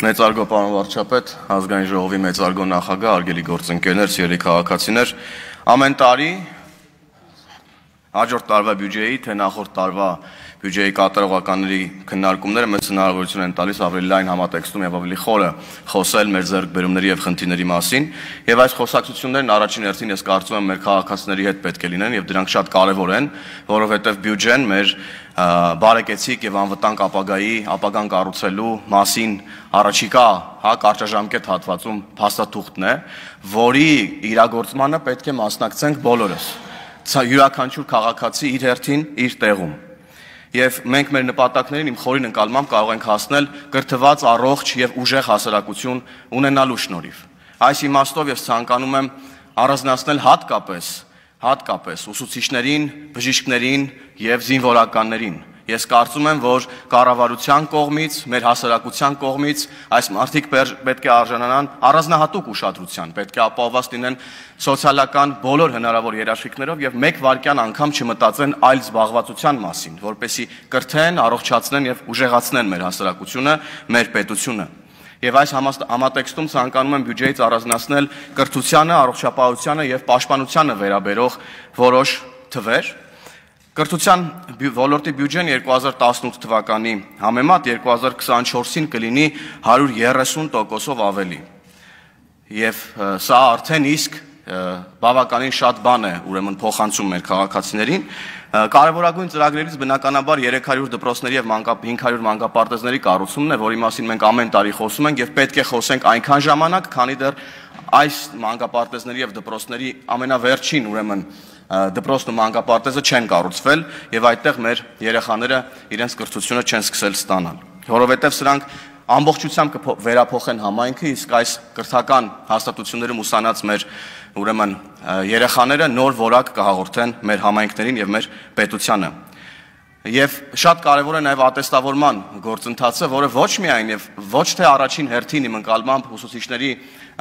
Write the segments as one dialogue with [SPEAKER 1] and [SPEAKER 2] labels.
[SPEAKER 1] Մեծարգո պարոն վարչապետ, ազգային ժողովի մեծարգո նախագահ, արգելի գործընկերներ, սիրելի քաղաքացիներ, ամեն տարի հաջորդ տարվա բյուջեի, թե նախորդ տարվա բյուջեի կատարողականների քննարկումները մեծ հնարավորություն են տալիս ավելի լայն համատեքստում եւ ավելի խորը խոսել մեր ձեռքբերումների եւ խնդիրների մասին, եւ այս խոսակցություններն առաջին հերթին ես կարծում եմ մեր քաղաքացիների հետ պետք է լինեն եւ դրանք շատ կարեւոր են, որովհետեւ բյուջեն մեր բարեկեցիկ եւ անվտանգ ապագան կառուցելու մասին առաջիկա կարճաժամկետ հատվածում փաստաթուղթն է, որի իրագործմանը պետք է մասնակցենք բոլորս։ Յուրաքանչյուր քաղաքացի իր հերթին իր տեղում։ Եվ մենք մեր նպատակներին իմ խորին ընկալմամբ կարող ենք հասնել կրթված, առողջ եւ ուժեղ հասարակություն ունենալու շնորհիվ։ Այս իմաստով ես ցանկանում եմ առանձնացնել հատկապես ուսուցիչներին, բժիշկներին եւ զինվորականներին։ Ես կարծում եմ, որ կառավարության կողմից, մեր հասարակության կողմից այս մարդիկ պետք է արժանանան առանձնահատուկ ուշադրության, պետք է ապահովված լինեն սոցիալական բոլոր հնարավոր երաշխիքներով եւ մեկ վայրկյան անգամ չմտածեն այլ զբաղվածության մասին, որպեսզի կրթեն, առողջացնեն եւ ուժեղացնեն մեր հասարակությունը, մեր պետությունը։ Եվ այս համատեքստում ցանկանում եմ բյուջեից առանձնացնել կրթությանը, առողջապահությանը եւ պաշտպանությանը վերաբերող որոշ թվեր։ Կրթության ոլորտի բյուջեն 2018 թվականի համեմատ 2024-ին կլինի 130%-ով ավելի։ Եվ սա արդեն իսկ բավականին շատ բան է, ուրեմն փոխանցում մեր քաղաքացիներին։ Կարևորագույն ծրագրերից բնականաբար 300 դպրոցների եւ 500 մանկապարտեզների կառուցումն է, որի մասին մենք ամեն տարի խոսում ենք եւ պետք է խոսենք այնքան ժամանակ, քանի դեռ այս մանկապարտեզների եւ դպրոցների ամենավերջին ուրեմն դպրոցն ու մանկապարտեզը չեն կառուցվել եւ այդտեղ մեր երեխաները իրենց կրթությունը չեն սկսել ստանալ, որովհետեւ սրանք ամբողջությամբ կվերափոխեն համայնքը, իսկ այս կրթական հաստատություններում ուսանած մեր ուրեմն երեխաները նոր որակ կհաղորդեն մեր համայնքներին եւ մեր պետությանը։ Եվ շատ կարևոր է նաև ատեստավորման գործընթացը, որը ոչ միայն եւ ոչ թե առաջին հերթին իմ ընկալմամբ ուսուցիչների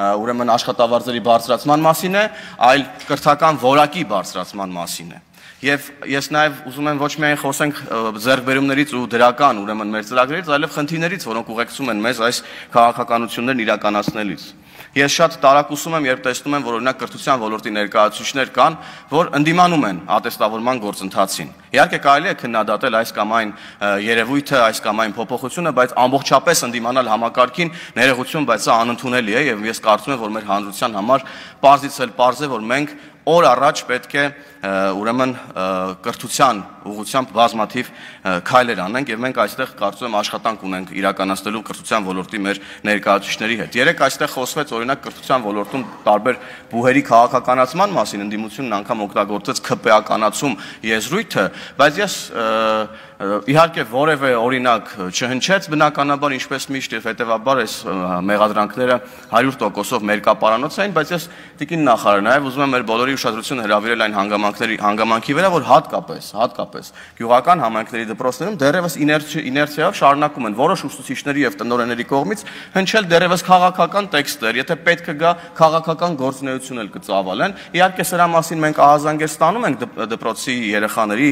[SPEAKER 1] ուրեմն աշխատավարձերի բարձրացման մասին է, այլ կրթական որակի բարձրացման մասին է։ Եվ ես նաև ուզում եմ ոչ միայն խոսենք ձեռքբերումներից ու դրական ուրեմն մեր ծրագրերից, այլև խնդիրներից, որոնք ուղեկցում են մեզ այս քաղաքականություններն իրականացնելիս։ Ես շատ տարակուսում եմ, երբ տեսնում եմ, որ օրինակ կրթության ոլորտի ներկայացուցիչներ կան, որ ընդդիմանում են ատեստավորման գործընթացին։ Իհարկե կարելի է քննադատել այս կամ այն երևույթը, այս կամ այն փոփոխությունը, բայց ամբողջապես ընդդիմանալ համակարգին ներողություն, բայց սա անընդունելի է եւ ես կարծում եմ, որ մեր հանրության համար պարզից էլ պարզ է, որ մենք օր առաջ պետք է ուրեմն կրթության ուղղությամբ բազմաթիվ քայլեր անենք եւ մենք այստեղ կարծում եմ աշխատանք ունենք իրականացնելու կրթության ոլորտի մեր ներկայացուցիչների հետ։ Երեք այստեղ խոսվեց օրինակ կրթության ոլորտում տարբեր բուհերի քաղաքականացման մասին, ընդդիմությունն անգամ օգտագործեց ՔՊ-ականացում եզրույթը, բայց ես իհարկե որևէ օրինակ չհնչեց, բնականաբար ինչպես միշտ եւ հետեւաբար այս մեղադրանքները 100%-ով մերկապարանոց էին, բայց ես տիկին նախարար նաեւ ուզում եմ մեր բոլորի ուշադրությունը հրավիրել այն հանգամանքի վրա, որ հատկապես գյուղական համայնքների դպրոցներում դեռևս իներցիայով շարունակում են որոշ ուսուցիչների եւ տնօրենների կողմից հնչել դեռևս քաղաքական տեքստեր, եթե պետք է գա քաղաքական գործունեություն էլ կծավալեն։ Իհարկե սրա մասին մենք ահազանգեր ստանում ենք դպրոցի երեխաների,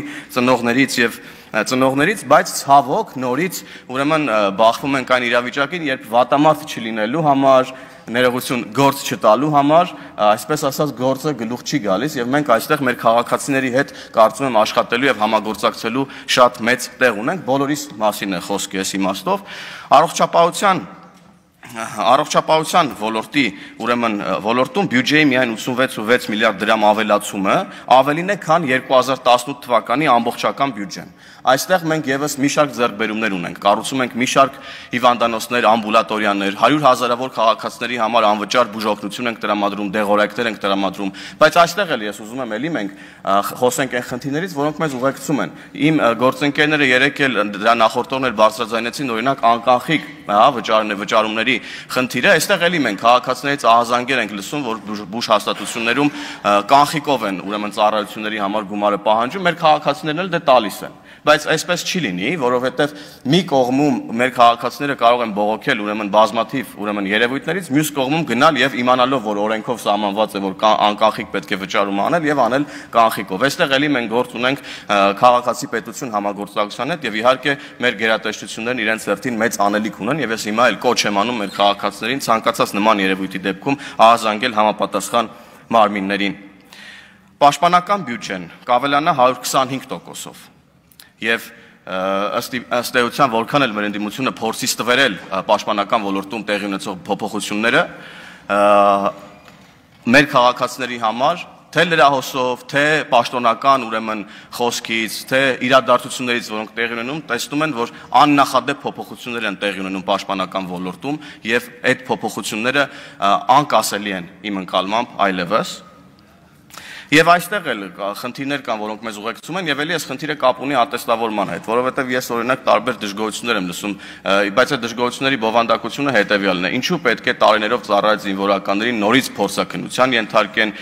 [SPEAKER 1] ծնողներից, բայց ցավոք նորից ուրեմն բախվում ենք այն իրավիճակին, երբ վատամարդ չլինելու համար, ներողություն գործ չտալու համար, այսպես ասած գործը գլուխ չի գալիս եւ մենք այստեղ մեր քաղաքացիների հետ կարծում եմ աշխատելու եւ համագործակցելու շատ մեծ տեղ ունենք, բոլորիս մասին է խոսքը այս իմաստով, առողջապահության ոլորտի ուրեմն ոլորտում բյուջեի միայն 86.6 միլիարդ դրամ ավելացումը ավելին է, քան 2018 թվականի ամբողջական բյուջեն։ Այստեղ մենք եւս մի շարք ձեռքբերումներ ունենք, կառուցում ենք մի շարք հիվանդանոցներ, ամբուլատորիաներ, 100,000-ավոր քաղաքացիների համար անվճար բուժօգնություն ենք տրամադրում, դեղորայքներ ենք տրամադրում, բայց այստեղ էլ ես ուզում եմ էլի մենք խոսենք այն խնդիրներից, որոնք մեզ ուղեկցում են։ Իմ գործընկերները երեք էլ դրա նախորդողներ բարձրաձայնեցին օրինակ անկանխիկ վճարումների խնդիրը, այստեղ էլի մենք քաղաքացիներից ահազանգեր ենք լսում, որ բուժ հաստատություններում կանխիկով են ուրեմն ծառայությունների համար գումարը պահանջում, մեր քաղաքացիներն էլ դե տալիս են։ Բայց այսպես չի լինի, որովհետև մի կողմում մեր քաղաքացիները կարող են բողոքել ուրեմն բազմաթիվ ուրեմն երևույթներից, մյուս կողմում գնալ եւ իմանալով, որ օրենքով սահմանված է, որ անկանխիկ պետք է վճարում անել եւ անել կանխիկով։ Այստեղ էլի մենք գործ ունենք քաղաքացի պետություն համագործակցության հետ եւ իհարկե մեր գերատեսչություններն իրենց հերթին մեծ անելիք ունեն եւ ես հիմա էլ կոչ եմ անում մեր քաղաքացիներին ցանկացած նման երևույթի դեպքում ահազանգել համապատասխան մարմիններին։ Պաշտպանական բյուջեն կավելանա 125%-ով։ Եվ ըստ էության որքան էլ մեր ընդդիմությունը փորձի ստվերել պաշտպանական ոլորտում տեղի ունեցող փոփոխությունները մեր քաղաքացիների համար թե լրահոսով, թե պաշտոնական ուրեմն խոսքից, թե իրադարձություններից, որոնք տեղի ունենում, տեսնում են, որ աննախադեպ փոփոխություններ են տեղի ունենում պաշտպանական ոլորտում եւ այդ փոփոխությունները անկասելի են իմ ընկալմամբ այլևս։ Եվ այստեղ էլ խնդիրներ կան, որոնք մեզ ուղեկցում են, եւ ելի այս խնդիրը կապ ունի ատեստավորման հետ, որովհետեւ ես օրինակ տարբեր դժգոհություններ եմ լսում, բայց այդ դժգոհությունների բովանդակությունը հետեւյալն է. ինչու պետք է տարիներով ծառայած զինվորականների նորից փորձակնության ենթարկեն,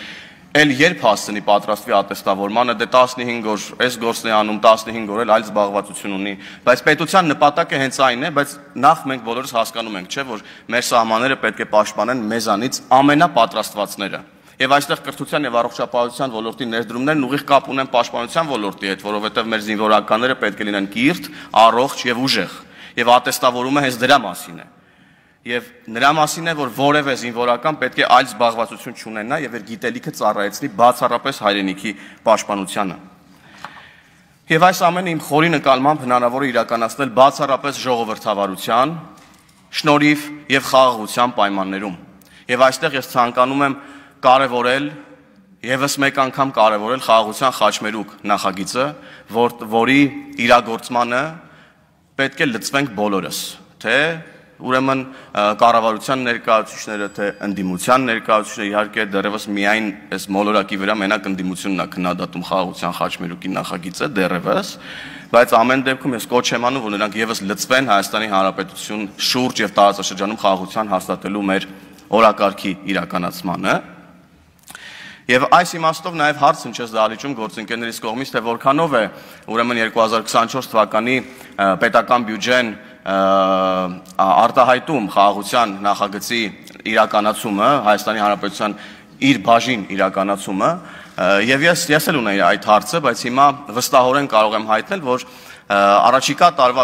[SPEAKER 1] էլ երբ հասցնի պատրաստվի ատեստավորմանը, դե 15 օր այս գործն է անում, 15 օր էլ այլ զբաղվածություն ունի, բայց պետության նպատակը հենց այն է, բայց նախ մենք բոլորս հասկանում ենք, չէ, որ մեր սահմանները պետք է պաշտպանեն մեզանից ամենապատրաստվածները։ Եվ այստեղ կրթության եւ առողջապահության ոլորտի ներդրումներն ուղիղ կապ ունեն պաշտպանության ոլորտի հետ, որովհետեւ մեր զինվորականները պետք է լինեն կիրթ, առողջ եւ ուժեղ։ Եվ ատեստավորումը հենց դրա մասին է։ Եվ նրա մասին է, որ որևէ զինվորական պետք է այլ զբաղվածություն չունենա եւ իր գիտելիքը ծառայեցնի բացառապես հայրենիքի պաշտպանությանը։ Եվ այս ամենը իմ խորի նկատմամբ հնարավոր է իրականացնել բացառապես ժողովրդավարության, շնորհիվ եւ խաղաղության պայմաններում։ Եվ այստեղ ես ցանկանում եմ կարևորել եւս մեկ անգամ կարևորել խաղաղության խաչմերուկ նախագիծը, որի իրագործմանը պետք է լծվենք բոլորս, թե ուրեմն կառավարության ներկայացուցիչները, թե ընդդիմության ներկայացուցիչները, իհարկե դեռևս միայն այս մոլորակի վրա մենակ ընդդիմությունն է քննադատում խաղաղության խաչմերուկի նախագիծը դեռևս, բայց ամեն դեպքում ես կոչ եմ անում, որ նրանք եւս լծվեն Հայաստանի Հանրապետություն շուրջ եւ տարածաշրջանում խաղաղության հաստատելու մեր օրակարգի իրականացմանը։ Եվ այս իմաստով նաև հարց հնչեց դահլիճում գործընկերներից կողմից, թե որքանով է ուրեմն 2024 թվականի պետական բյուջեն արտահայտում խաղաղության նախագծի իրականացումը, Հայաստանի Հանրապետության իր բաժին իրականացումը, եւ ես էլ ունեի այդ հարցը, բայց հիմա վստահորեն կարող եմ հայտնել, որ առաջիկա տարվա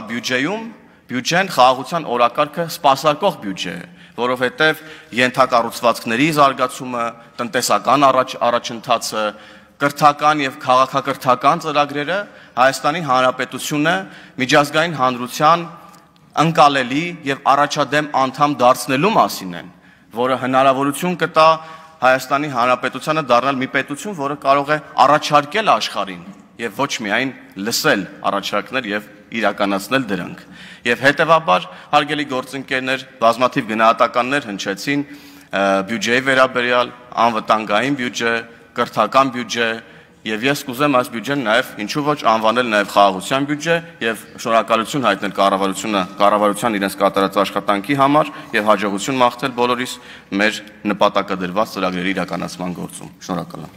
[SPEAKER 1] բյուջեն խաղաղության օրակարգը սպասարկող բյուջե է, որովհետև ենթակառուցվածքների զարգացումը, տնտեսական առաջընթացը, կրթական եւ քաղաքակրթական ծրագրերը Հայաստանի Հանրապետությունը միջազգային հանրության ընկալելի եւ առաջադեմ անդամ դարձնելու մասին են, որը հնարավորություն կտա Հայաստանի Հանրապետությանը դառնալ մի պետություն, որը կարող է առաջարկել աշխարհին եւ ոչ միայն լսել առաջարկներ եւ իրականացնել դրանք։ Եվ հետևաբար, հարգելի գործընկերներ, բազմաթիվ գնահատականներ հնչեցին բյուջեի վերաբերյալ, անվտանգային բյուջե, կրթական բյուջե, եւ ես կուզեմ այս բյուջեն նաեւ ինչու ոչ անվանել նաեւ խաղաղության բյուջե եւ շնորհակալություն հայտնել կառավարության իրենց կատարած աշխատանքի համար եւ հաջողություն մաղթել բոլորիս մեր նպատակադրված ծրագրերի իրականացման գործում։ Շնորհակալ եմ։